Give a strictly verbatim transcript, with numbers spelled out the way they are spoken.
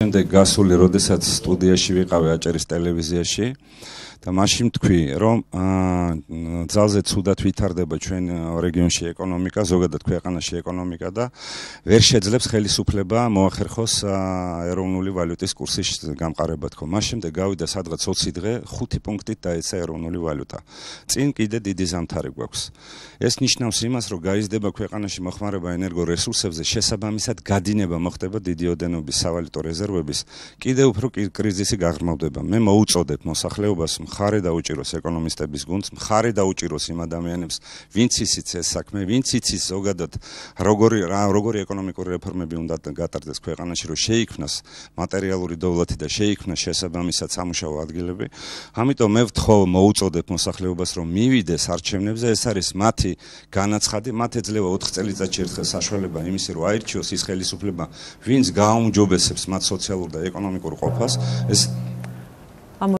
შემდეგ გასული, როდესაც სტუდიაში ვიყავი აჭარის ტელევიზიაში და მაშინ თქვი, რომ ძალზე ცუდად ვითარდება ჩვენ რეგიონში ეკონომიკა, ზოგადად ქვეყანაში ეკონომიკა და ვერ შეძლებს ხელისუფლება მოახერხოს ეროვნული ვალუტის კურსის გამყარება თქო. მას შემდეგ გავიდა სადღაც ოცი დღე, ხუთი პუნქტით დაეცა ეროვნული ვალუტა. წინ კიდე დიდი ზამთარი გვაქვს. ეს ნიშნავს იმას, რომ გაიზრდება ქვეყანაში მოხმარება ენერგორესურსებზე, შესაბამისად გადინება მოხდება დიდი ოდენობის სავალუტო რეზერვების, კიდევ უფრო კრიზისი გაღრმავდება. მე მოუწოდებ მოსახლეობას მხარე დაუჭიროს ეკონომისტების გუნდს, მხარე დაუჭიროს იმ ადამიანებს, ვინც იცის ეს საქმე, ვინც იცის ზოგადად როგორი როგორი ეკონომიკური რეფორმები უნდა გატარდეს ქვეყანაში, რომ შეიქმნას მატერიალური დოვლათი და შეიქმნას შესაბამისად სამუშაო ადგილები. ამიტომ მე ვთხოვ, მოუწოდებ მოსახლეობას, რომ მივიდეს არჩევნებზე, ეს არის მათი განაცხადი, მათ ეძლევა ოთხ წელიწადში ერთხელ საშუალება იმისი, რომ აირჩიოს ის ხელისუფლება, ვინც გააუმჯობესებს მათ სოციალურ და ეკონომიკურ ყოფას. ეს